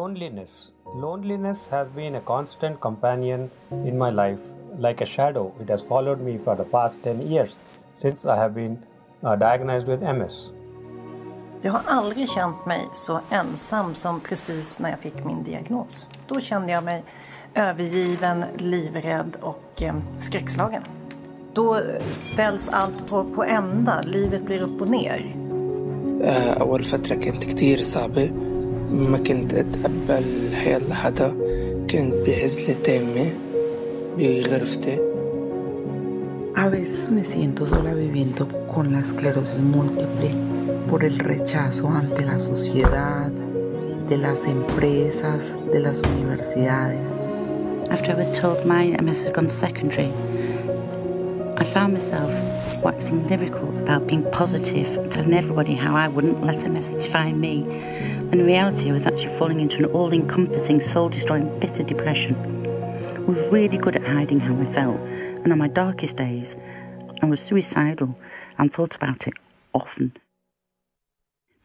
Loneliness. Loneliness has been a constant companion in my life. Like a shadow, it has followed me for the past 10 years since I have been diagnosed with MS. Jag har aldrig känt mig så ensam som precis när jag fick min diagnos. Då kände jag mig övergiven, livrädd och skräckslagen. Då ställs allt på ända, livet blir upp och ner. أول فترة كانت كتير صعبة، ما كنت أتقبل الحياة لحدا، كنت بعزلة تامة بغرفتي. A veces me siento sola viviendo con la esclerosis múltiple por el rechazo ante la sociedad, de las empresas, de las universidades. After I was told my MS has gone secondary, I found myself waxing lyrical about being positive, telling everybody how I wouldn't let MS define me. When in reality I was actually falling into an all-encompassing, soul-destroying, bitter depression. I was really good at hiding how I felt, and on my darkest days I was suicidal and thought about it often.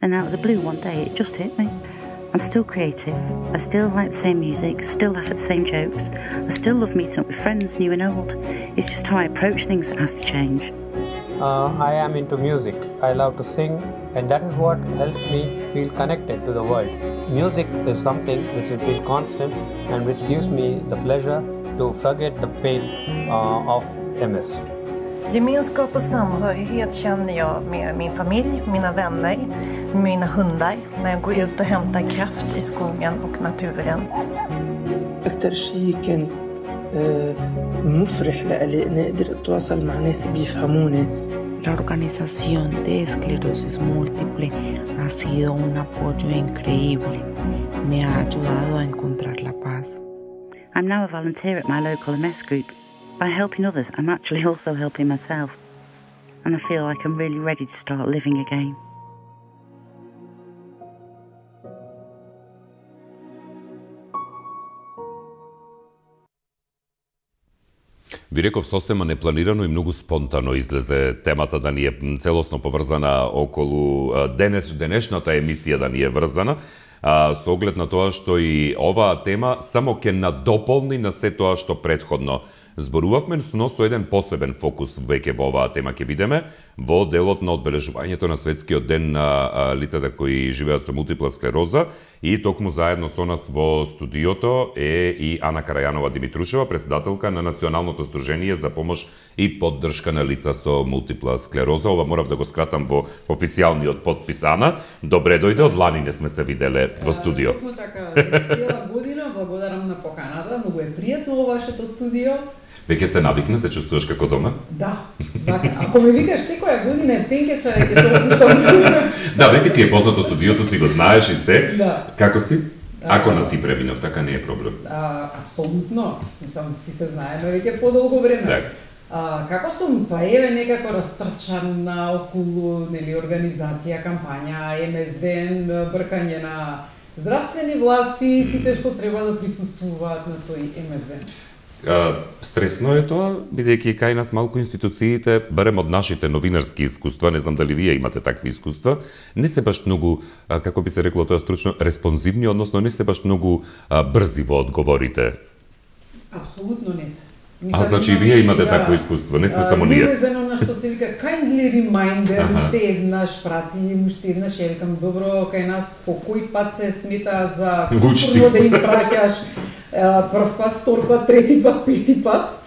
Then out of the blue one day it just hit me. I'm still creative, I still like the same music, still laugh at the same jokes, I still love meeting up with friends new and old. It's just how I approach things that has to change. I am into music. I love to sing, and that is what helps me feel connected to the world. Music is something which has been constant and which gives me the pleasure to forget the pain of MS. Gemenskap och samhörighet känner jag med min familj, mina vänner, mina hundar när jag går ut och hämtar kraft i skogen och naturen. أكتر شيء كانت مفرح لألي أنا قدرت أتواصل مع ناس بيفهموني. La organización de esclerosis múltiple ha sido un apoyo increíble. Me ha ayudado a encontrar la paz. I'm now a volunteer at my local MS group. By helping others, I'm actually also helping myself. And I feel like I'm really ready to start living again. Ви реков сосема непланирано и многу спонтано излезе темата да ни е целосно поврзана околу денешната емисија да ни е врзана, со оглед на тоа што и оваа тема само ќе надополни на се тоа што претходно зборувавме, но со еден посебен фокус веќе во оваа тема ќе бидеме во делот на одбележувањето на светскиот ден на лицата кои живеат со мултипла склероза, и токму заедно со нас во студиото е и Ана Карајанова Димитрушева, председателка на Националното сдружение за помош и поддршка на лица со мултипла склероза. Ова морав да го скратам во официјалниот подпис. Ана, добре дојде, од лани не сме се виделе во студио. Токму така, цела година, благодарам на поканата, многу е пријатно во вашето студио. Веќе се навикна, се чувствуваш како дома? Да, така. Ако ме викаш секоја година ептен ќе се опуштам. Да, веќе ти е познато студиото, си го знаеш и се. Да. Како си? Ако на ти преминав, така не е проблем. Апсолутно. Мислам, си се знаеме веќе подолго време. Так. Како сум, па еве некако растрчана околу, нели, организација, кампања, МС ден, бркање на здравствени власти, сите што треба да присуствуваат на тој МС ден. Стресно е тоа, бидејќи кај нас малку институциите, барем од нашите новинарски искуства, не знам дали вие имате такви искуства, не се баш многу, како би се рекло тоа стручно, респонзивни, односно не се баш многу брзи во одговорите. Апсолутно не се. Значи и вие имате такво искуство, не сме само ние. Невезено на што се вика kindly reminder, уште еднаш прати, уште еднаш викам, добро, кај нас по кој пат се смета за културно да им праќаш, прв пат, втор пат, трети пат, пети пат.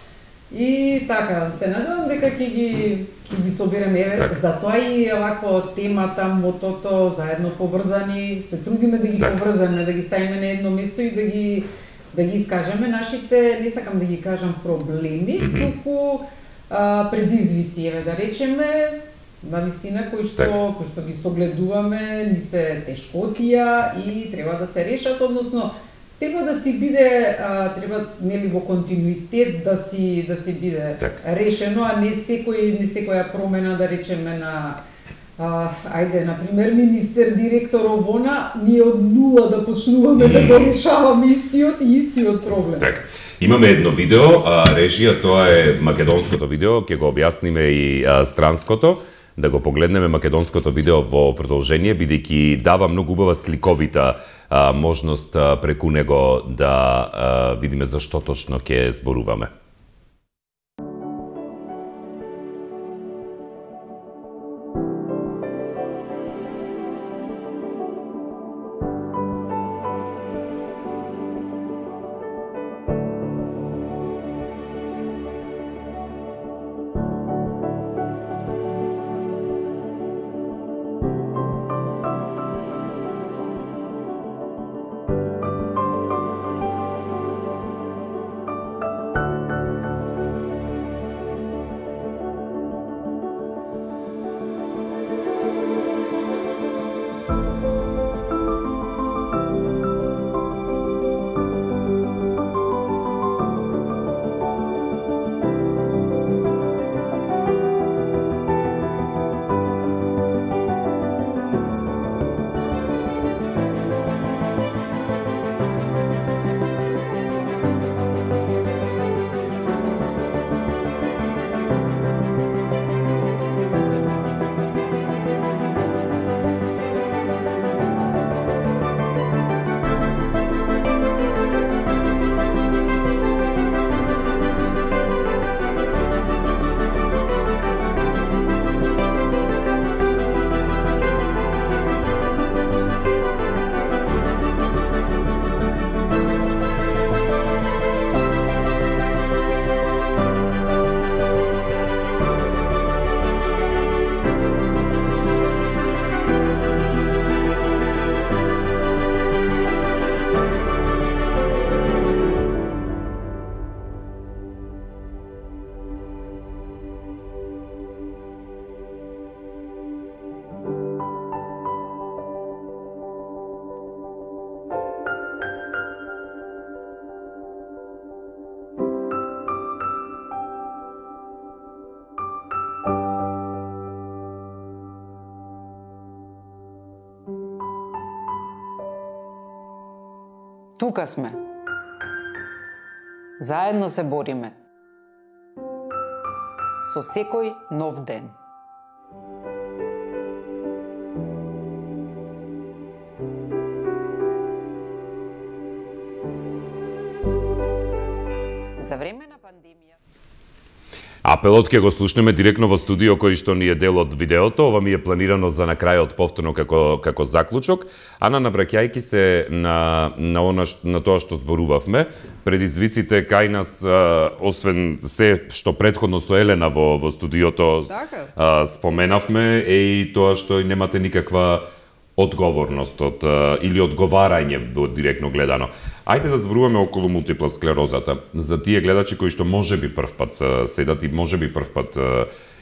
И така, се надевам дека ќе ги собереме, еве, затоа и овакво темата, мотото, заедно поврзани, се трудиме да ги поврзаме, да ги ставиме на едно место и да ги искажеме нашите, не сакам да ги кажам проблеми, туку предизвици, еве да речеме, навистина кои што ги согледуваме, ни се тешкотија и треба да се решат, односно треба да си биде, треба нели во континуитет да си биде решено, а не секоја промена да речеме на ајде, например, министер, директор овона, ние од нула да почнуваме да го решаваме истиот проблем. Так. Имаме едно видео, режија, тоа е македонското видео, ќе го објасниме и странското. да го погледнеме македонското видео во продолжение, бидејќи дава многу убава сликовита можност преку него да видиме за што точно ќе зборуваме. Тука сме. Заедно се бориме. Со секој нов ден. За време на пандемија. Апелот ќе го слушнеме директно во студио кој што ни е дел од видеото. Ова ми е планирано за на крајот повторно како заклучок. Ана, навраќајќи се на тоа што зборувавме, предизвиците кај нас, освен се што претходно со Елена во студиото споменавме, е и тоа што немате никаква одговорност или одговарање директно гледано. Ајде да зборуваме околу мултипла склерозата. За тие гледачи кои што можеби првпат седат и можеби првпат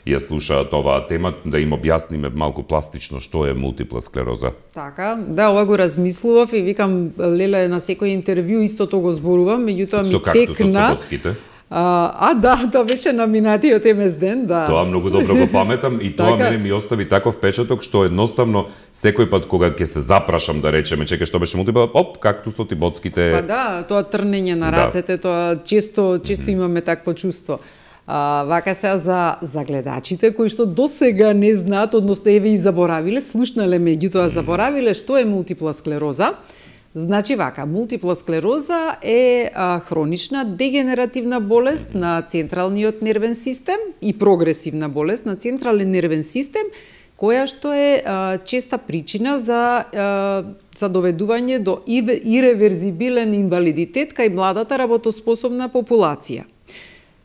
ја слушаат оваа тема, да им објасниме малку пластично што е мултипла склероза. Така, да, ова го размислував и викам, леле, на секој интервју истото го зборувам, меѓутоа ми текна. Со както да, тоа беше на минатиот МС ден, да. Тоа многу добро го паметам и тоа мене ми остави таков впечаток што едноставно секој пат кога ќе се запрашам да речеме, чекај што беше мултипла, кактусот и боцките. Па да, тоа трнење на рацете, тоа често имаме такво чувство. Вака сега за гледачите кои што досега не знаат, односно еве и заборавиле, слушнале меѓутоа заборавиле што е мултипла склероза. Значи вака, мултипла склероза е хронична дегенеративна болест на централниот нервен систем и прогресивна болест на централен нервен систем, која што е честа причина за доведување до иреверзибилен инвалидитет кај младата работоспособна популација.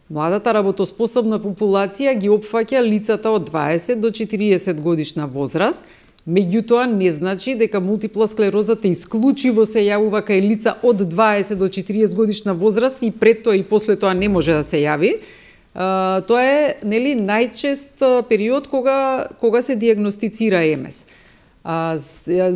Младата работоспособна популација ги опфаќа лицата од 20 до 40 годишна возраст, меѓутоа не значи дека мултипла склерозата исклучиво се јавува кај лица од 20 до 40 годишна возраст и пред тоа и после тоа не може да се јави. Тоа е, нели, најчест период кога се диагностицира МС.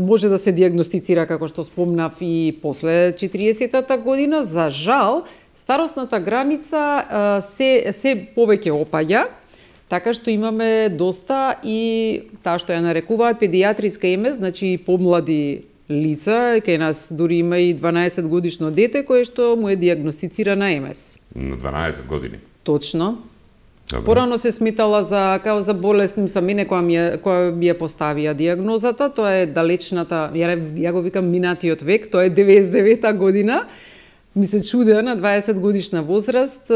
Може да се диагностицира, како што спомнав, и после 40-та година. За жал, старосната граница се повеќе опаѓа, така што имаме доста и таа што ја нарекуваат педијатриска МС, значи помлади лица, кај нас дури има и 12 годишно дете кое што му е диагностицирана МС. На 12 години? Точно. Порано се сметала као за болест, за мене која ми ја поставија диагнозата, тоа е далечната, ја го викам минатиот век, тоа е 99-та година. Ми се чудеа на 20 годишна возраст,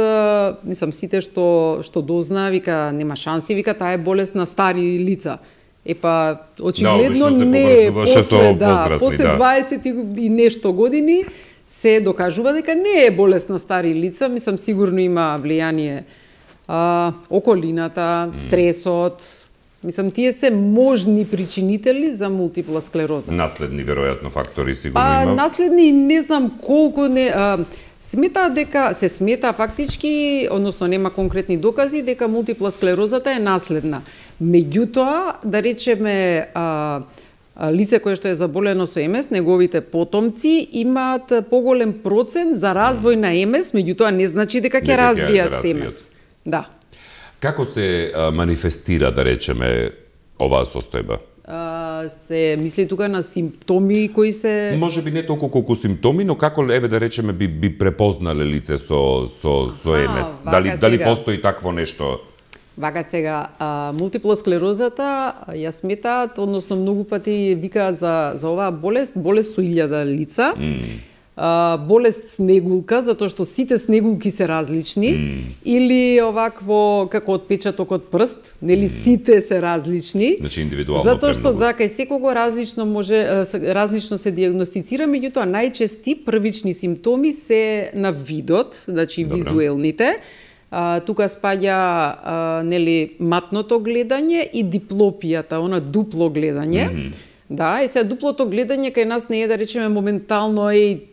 мислам сите што дознаа, вика нема шанси, вика таа е болест на стари лица. Епа очигледно не после 20 и нешто години се докажува дека не е болест на стари лица, мислам сигурно има влијание околината, стресот, мислам тие се можни причинители за мултипла склероза. Наследни веројатно фактори сигурно има. Наследни не знам колку не се смета фактички, односно нема конкретни докази дека мултипла склерозата е наследна. Меѓутоа, да речеме лице кое што е заболено со МС, неговите потомци имаат поголем процент за развој на МС, меѓутоа не значи дека ќе развијат МС. Да. Како се манифестира, да речеме, оваа состојба? Се мисли тука на симптоми кои се... Може би не толку колку симптоми, но како, еве да речеме, би препознале лице со МС? Дали постои такво нешто? Вака сега, мултипла склерозата ја сметаат, односно многу пати викаат за оваа болест 100.000 лица. Болест снегулка, затоа што сите снегулки се различни, или овакво како отпечаток од прст, нели сите се различни. Значи индивидуално. Затоа што кај секого различно се диагностицира, меѓутоа најчести првични симптоми се на видот, значи визуелните. Тука спаѓа нели матното гледање и диплопијата, она дупло гледање. Да, и сега дуплото гледање кај нас не е да речеме моментално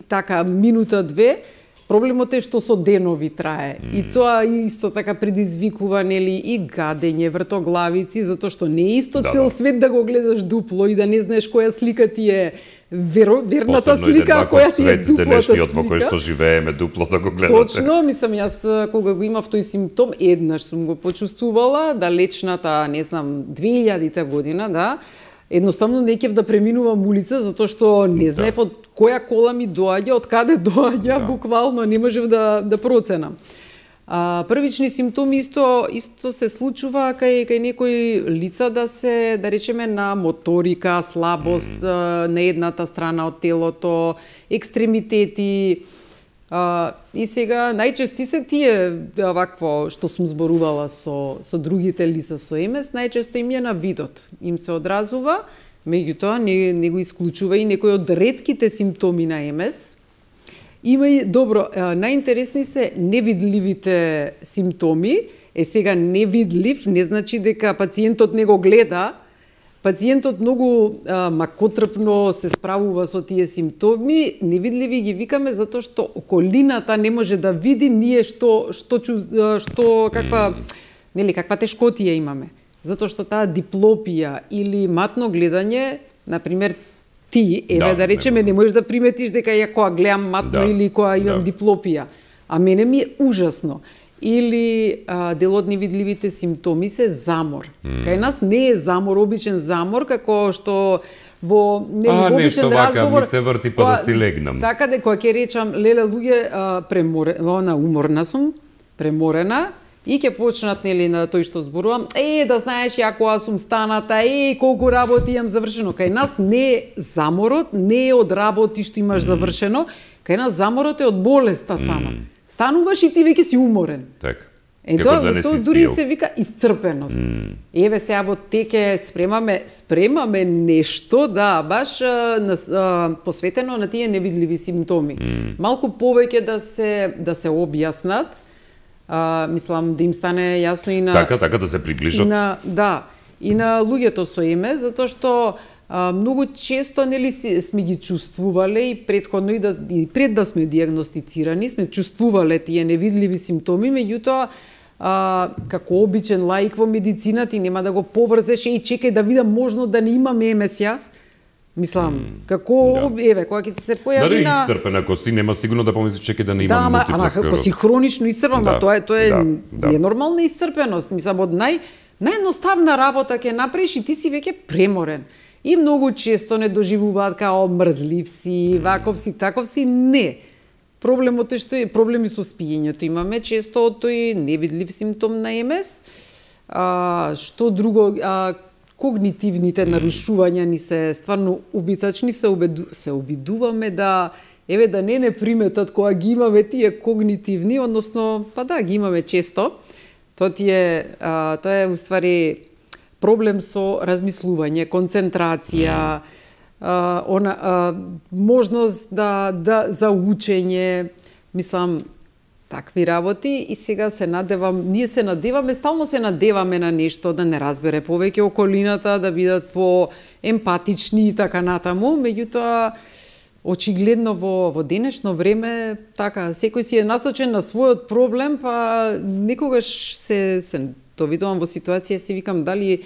така минута-две. Проблемот е што со денови трае. И тоа исто така предизвикува нели и гадење, вртоглавици, затоа што не е исто цел свет да го гледаш дупло и да не знаеш која слика ти е верната слика, која ти е дуплата слика. Во кој што живееме, дупло да го гледате. Точно, мислам, јас кога го имав тој симптом, еднаш сум го почувствувала, далечната, не знам, 2000-та година, да, едноставно не ќе да преминувам улица, затоа што не знаев од која кола ми доаѓа, од каде доаѓа, буквално не можев да проценам. Првични симптоми исто се случува кај некои лица да речеме на моторика, слабост на едната страна од телото, екстремитети. И сега најчести се тие вакво што сум зборувала со другите лица со МС, најчесто им е на видот. Им се одразува, меѓутоа не го исклучува и некои од ретките симптоми на МС. Има и добро, најинтересни се невидливите симптоми. Сега невидлив не значи дека пациентот не го гледа. Пациентот многу макотрпно се справува со тие симптоми. Невидливи ги викаме затоа што околината не може да види ние каква тешкотија имаме. Затоа што таа диплопија или матно гледање, например, ти, да речеме, не можеш да приметиш дека ја која гледам матно или која имам диплопија. А мене ми е ужасно. Или дел од невидливите симптоми се замор. Кај нас не е замор, обичен замор, како што во обичен разговор... ми се врти па да си легнам. Така дека ќе речам, леле луѓе, уморна сум, преморена, и ќе почнат нели на тој што зборувам, да знаеш ја кога сум станата, колку работи имам завршено. Кај нас не е заморот, не е од работи што имаш завршено, кај нас заморот е од болеста сама. Стануваш и ти веќе си уморен. Така. Тоа дури се вика исцрпеност. Еве сега во теке спремаме нешто, да, баш посветено на тие невидливи симптоми. Малку повеќе да се објаснат, мислам да им стане јасно и на... Така да се приближат. И на луѓето со МС, затоа што многу често нели сме ги чувствувале и претходно и пред да сме диагностицирани, сме чувствувале тие невидливи симптоми, меѓутоа како обичен лаик во медицина ти нема да го поврзеш чекај да видам можно да не имам МС јас. Мислам, како еве кога ќе ти се појави на исцрпен, ако си нема сигурно да помислиш чекај да не имам мултипла склероза. Ако си хронично исцрпен, тоа е ненормална исцрпеност. Мислам од наједноставна работа ќе направиш и ти си веќе преморен. И многу често не доживуваат као мрзлив си, ваков си, таков си, не. проблемот е што е проблеми со спиењето. Имаме често тој невидлив симптом на МС. Што друго, когнитивните нарушувања ни се стварно убитачни, се обидуваме да да не приметат кога ги имаме тие когнитивни, односно, ги имаме често. Тоа е уствари проблем со размислување, концентрација, можност за учење, мислам, такви работи. И сега ние се надеваме, стално се надеваме на нешто, да не разбере повеќе околината, да бидат по-емпатични и така натаму. Меѓутоа, очигледно во денешно време, секој си е насочен на својот проблем, па некогаш се довидувам во ситуација, си викам дали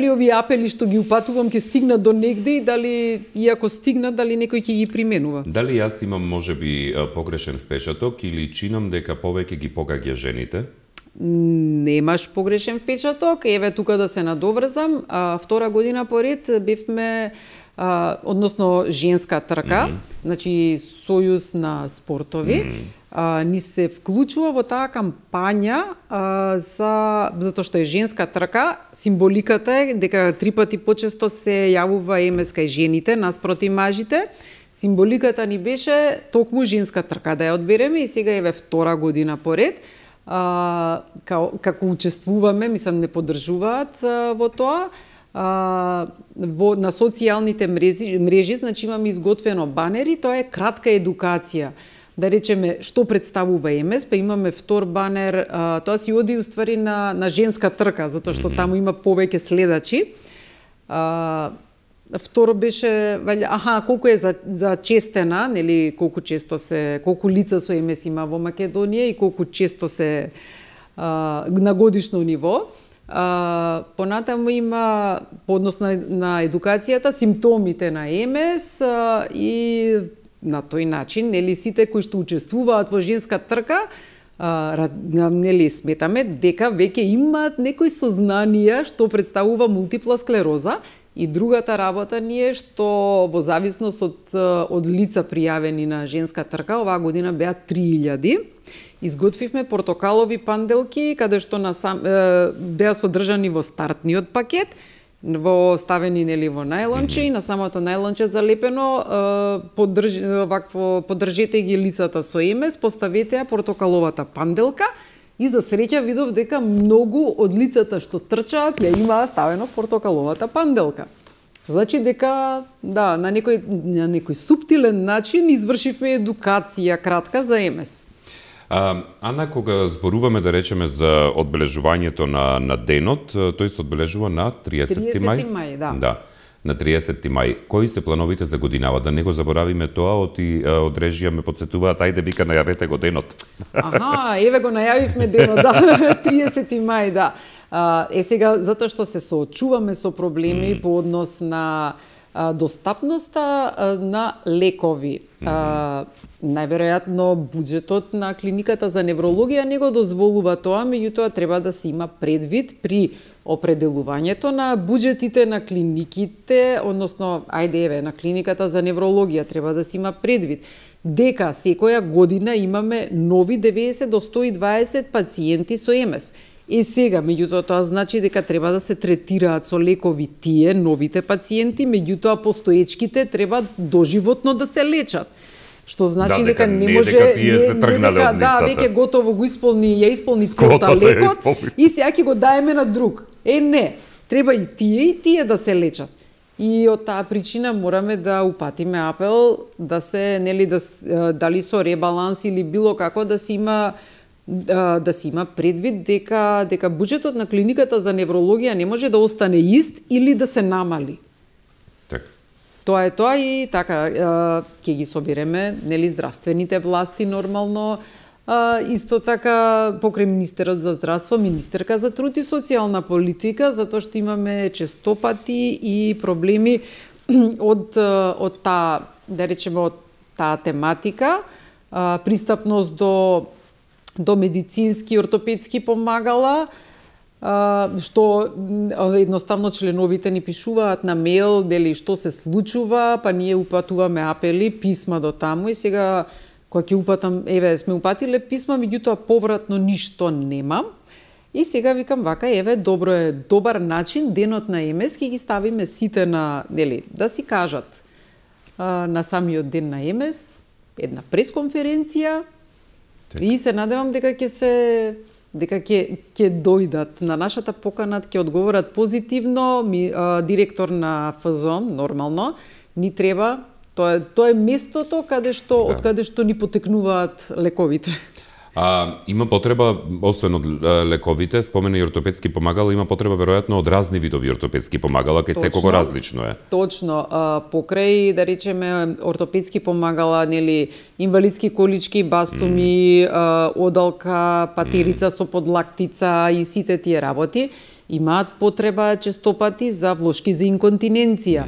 овие апели што ги упатувам ќе стигнат до негде и дали, и ако стигнат, дали некој ќе ги применува. Дали јас имам можеби погрешен впечаток или чинам дека повеќе ги погаѓа жените? Немаш погрешен впечаток. Еве тука да се надоврзам. Втора година поред бевме односно женска трка, значи сојуз на спортови, ни се вклучува во таа кампања затоа што е женска трка. Символиката е дека 3 пати почесто се јавува МС кај жените наспроти мажите. Символиката ни беше токму женска трка да ја одбереме и сега еве втора година поред како учествуваме, мислам не поддржуваат во тоа. На социјалните мрежи, значи имаме изготвено банери, тоа е кратка едукација. Да речеме што представува МС, па имаме втор банер, тоа си оди уствари на женска трка, затоа што таму има повеќе следачи. Второ беше, колку е за честена, нели, колку лица со МС има во Македонија и колку често се на годишно ниво. Понатаму има по однос на едукацијата, симптомите на МС и на тој начин, нели, сите кои што учествуваат во женска трка, нели, сметаме дека веќе имаат некои сознанија што представува мултипла склероза. И другата работа ни е што во зависност од лица пријавени на женска трка, оваа година беа 3000. Изготвивме портокалови панделки, каде што беа содржани во стартниот пакет, ставени нели во најлонче и на самото најлонче залепено поддржете ги лицата со МС, поставете ја портокаловата панделка и за среќа видов дека многу од лицата што трчаат ја имаа ставено портокаловата панделка. Значи дека на некој суптилен начин извршивме едукација кратка за МС. Ана, кога зборуваме, да речеме, за одбележувањето на денот, тој се одбележува на 30 мај? 30 мај, да. Да, на 30 мај. Кои се плановите за годинава? Да не го заборавиме тоа, од режија ме подсетуваат, ајде вика најавете го денот. Еве го најавивме денот, да, 30 мај, да. Сега, затоа што се соочуваме со проблеми по однос на достапноста на лекови. Најверојатно буџетот на клиниката за неврологија не го дозволува тоа, меѓутоа треба да се има предвид при определувањето на буџетите на клиниките, односно, на клиниката за неврологија треба да се има предвид дека секоја година имаме нови 90 до 120 пациенти со МС. И сега, меѓутоа, тоа значи дека треба да се третираат со лекови тие новите пациенти, меѓутоа постоечките треба доживотно да се лечат. Што значи дека не може тие се тргнале од листата. Веќе готово ја исполни целта лекот и сега ќе го даеме на друг. Не, треба и тие да се лечат. И од таа причина мораме да упатиме апел да се, нели, дали со ребаланс или било како да се има предвид дека буџетот на клиниката за неврологија не може да остане ист или да се намали. Тоа е тоа и така ќе ги собереме, нели, здравствените власти нормално, исто така покрај Министерот за здравство, Министерка за труд и социјална политика, затоа што имаме честопати и проблеми од таа, да речеме, од таа тематика, пристапност до медицински, ортопедски помагала, што едноставно членовите ни пишуваат на мејл дали што се случува, па ние упатуваме апели, писма до таму и сега кога ќе упатам, еве, сме упатиле писма, меѓутоа повратно ништо немам. И сега викам вака, еве, добро е, добар начин, денот на ЕМС, ќе ги ставиме сите на, нели, да си кажат на самиот ден на ЕМС, една пресконференција, и се надевам дека ќе дојдат на нашата покана, ќе одговорат позитивно. Директор на ФЗОМ, нормално, ни треба, тоа е местото од каде што ни потекнуваат лековите. Има потреба, освен од лековите, спомена и ортопедски помагала, има потреба веројатно од разни видови ортопедски помагала, кај секого различно е. Точно, покрај, да речеме, ортопедски помагала, нели, инвалидски колички, бастуми, одалка, патерица со подлактица и сите тие работи, имаат потреба честопати за влошки за инконтиненција.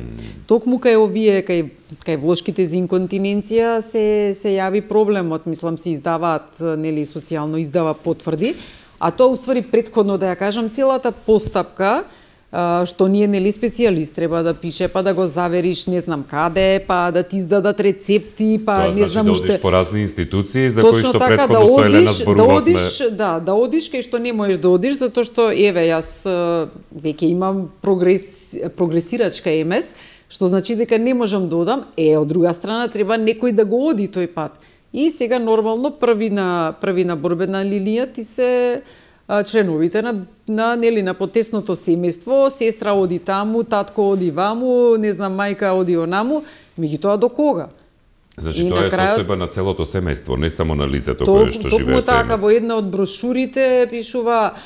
Токму кај овие, кај влошките за инконтиненција се јави проблемот, мислам се издаваат, нели, социјално издава потврди, а тоа уствари претходно, да ја кажам, целата постапка, што ние, нели, специјалист треба да пише, па да го завериш не знам каде, па да ти издадат рецепти, па тоа не знам уште. Тоа значи да одиш по разни институции за кои што претходно со Елена зборувавме. Да одиш кај што не можеш да одиш, затоа што, еве, јас веќе имам прогресирачка ЕМС, што значи дека не можам да одам, од друга страна треба некој да го оди тој пат. И сега нормално први на борбена линија ти се членовите на потесното семејство, сестра оди таму, татко оди ваму, не знам, мајка оди онаму, меѓутоа до кога? Значи тоа е состојба на целото семејство, не само на лицето кое што живее со ЕМС. Така, во една од брошурите пишува,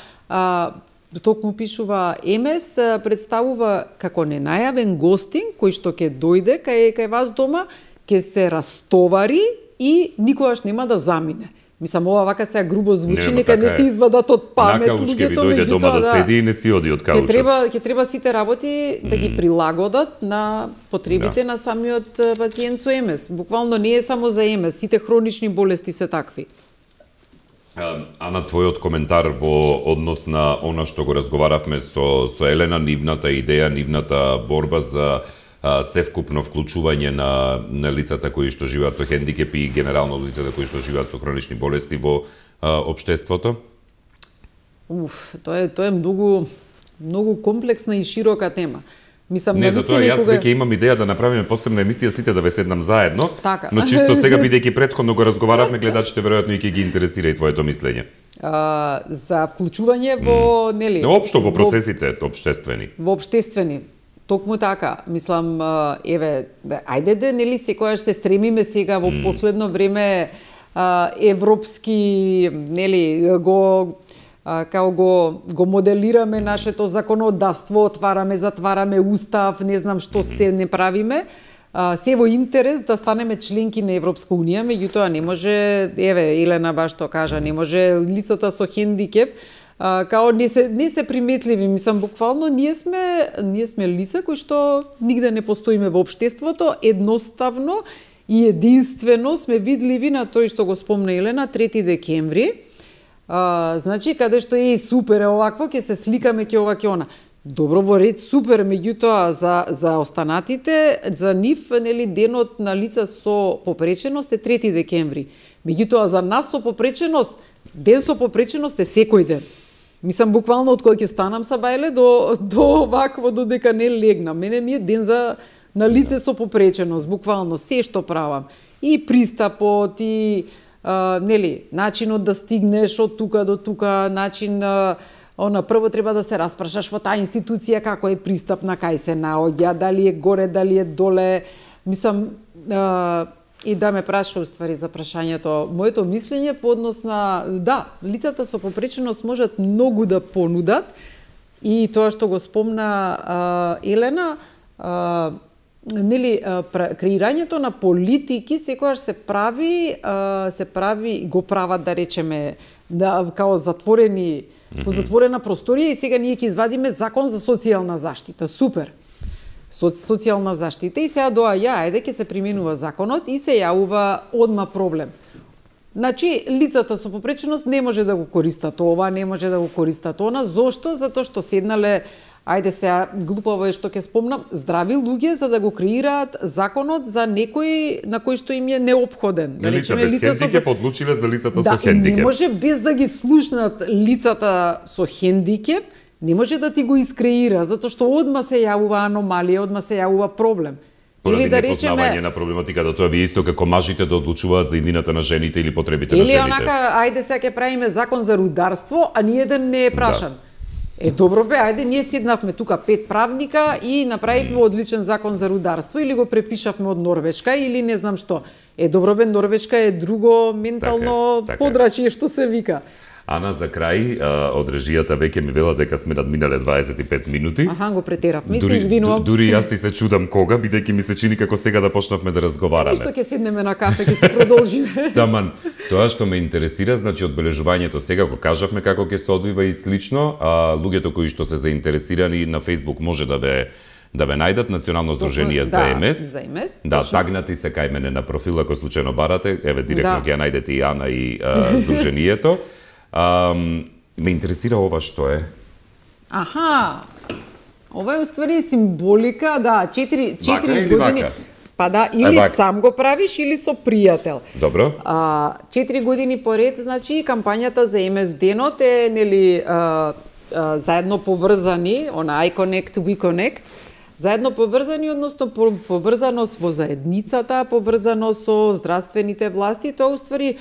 ЕМС представува како ненајавен гостин кој што ќе дојде кај вас дома, ќе се растовари и никогаш нема да замине. Мислам, ова вака сега грубо звучи, нека не се извадат од памет луѓето, дојде дома да седи и не си оди од каучот. Ќе треба сите работи да ги прилагодат на потребите на самиот пациент со ЕМС. Буквално не е само за ЕМС, сите хронични болести се такви. А на твојот коментар во однос на она што го разговаравме со Елена, нивната идеја, нивната борба за севкупно вклучување на лицата кои што живеат со хендикеп и генерално лицата кои што живеат со хронични болести во општеството? Тоа е многу комплексна и широка тема. Мислам, не, затоа јас веќе имам идеја да направиме посебна емисија сите да ве седнам заедно, така. Но чисто сега бидејќи претходно го разговаравме, гледачите веројатно и ќе ги интересира и твоето мислење. За вклучување во, нели? Општо во процесите општествени. Во општествени. Токму така, мислам, еве, ајде нели, секојаш се стремиме сега во последно време европски, нели, го моделираме нашето законодавство, отвараме, затвараме устав, не знам што се не правиме. Се во интерес да станеме членки на Европска унија, меѓутоа не може, еве, Елена баш што кажа, не може лицата со хендикеп као не се приметливи, мислам, буквално ние сме лица кои што нигде не постоиме во општеството, едноставно и единствено сме видливи на тој што го спомна Елена, 3 декември. Значи, каде што е супер, овакво, ќе се сликаме, ќе ова, ќе она. Добро, во ред, супер, меѓутоа за останатите, за нив, нели, денот на лица со попреченост е 3 декември. Меѓутоа за нас со попреченост, ден со попреченост е секој ден. Мислам, буквално од кога ќе станам са бајле до вакво, додека не легнам. Мене ми е ден на лице со попреченост, буквално се што правам. И пристапот, и нели, начинот да стигнеш од тука до тука, начин прво треба да се распрашаш во таа институција како е пристапна, кај се наоѓа, дали е горе, дали е доле. Мислам, и да ме праша уствари за прашањето. Моето мислење по однос на, да, лицата со попреченост можат многу да понудат и тоа што го спомна Елена, нели, креирањето на политики секогаш се прави, го прават, да речеме, као затворени, по затворена просторија и сега ние ќе извадиме закон за социјална заштита. Супер! Социјална заштита и сега ајде ќе се применува законот и се јавува одма проблем. Значи, лицата со попреченост не може да го користат ова, не може да го користат она. Зошто? Затоа што седнале ајде сега глупаво е што ќе спомнам, здрави луѓе за да го креираат законот за некој на кој што им е неопходен. Да лица без хендикеп одлучиле за лицата со хендикеп. Не може без да ги слушнат лицата со хендикеп, не може да ти го искреира, затоа што одма се јавува аномалија, одма се јавува проблем. Или да речеме на проблематиката, тоа ви исто како мажите да одлучуваат за иднината на жените или потребите на жените. Или онака, ајде сега ќе правиме закон за рударство, а ниеден не е прашан. Добро бе, ајде, ние седнавме тука 5 правника и направивме одличен закон за рударство или го препишавме од Норвешка или не знам што. Добро бе, Норвешка е друго ментално подрачје што се вика. Ана, за крај, од режијата веќе ми вела дека сме надминале 25 минути. Аха, го претеравме, се извинувам. Дури јас си се чудам кога, бидејќи ми се чини како сега да почнавме да разговараме. Што ќе седнеме на кафе, ќе се продолжиме. Таман, тоа што ме интересира, значи одбележувањето сега го кажавме како ќе се одвива и слично, луѓето кои што се заинтересирани на Facebook може да ве најдат Национално здружение за МС. За МС. Да, тагнати се кај мене на профил, ако случајно барате, еве директно ќе ја најдете и Ана и здружението. Ме интересира ова што е. Аха, ова е уствари символика, да, 4 години. Вака? Па да, или сам го правиш, или со пријател. Добро. 4 години поред, значи, кампањата за МС денот е, нели, заедно поврзани, I connect, we connect, заедно поврзани, односно поврзаност во заедницата, поврзаност со здравствените власти, тоа уствари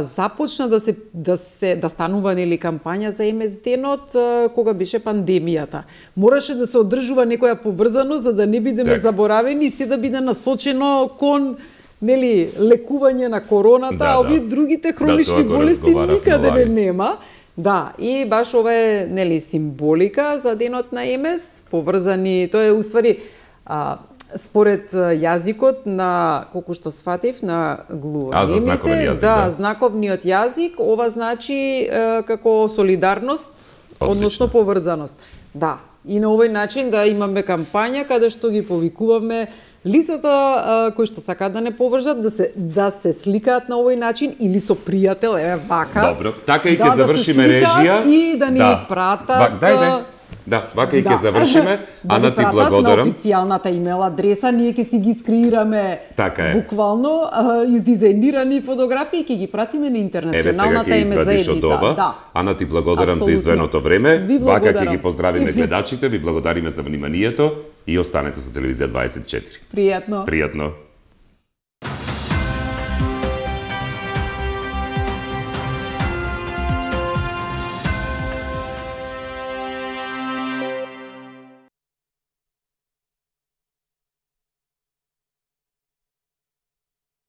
започна да станува, нели, кампања за МС денот кога беше пандемијата. Мораше да се одржува некоја поврзаност за да не бидеме заборавени и се да биде насочено кон, нели, лекување на короната, а овие другите хронични болести никаде не нема. Да, и баш ова е, нели, символика за денот на МС, поврзани, тоа е уствари според јазикот на, колку што сватив, на глувонемите, за знаковен јазик, да, знаковниот јазик, ова значи како солидарност, односно поврзаност. Да, и на овој начин да имаме кампања каде што ги повикуваме лицата кои што сакаат да не поврзат, да се сликаат на овој начин или со пријател, вака. Добро, така и ќе завршиме режија. И да ни пратат. Да, вака и ќе завршиме. Ана, ти благодарам. На официјалната имейл адреса, ние ќе си ги скриираме буквално издизајнирани фотографии и ќе ги пратиме на интернационалната име заедница. Да. Ана, ти благодарам за издвоеното време. Вака ќе ги поздравиме гледачите, ви благодариме за вниманието и останете со Телевизија 24. Пријатно. Пријатно.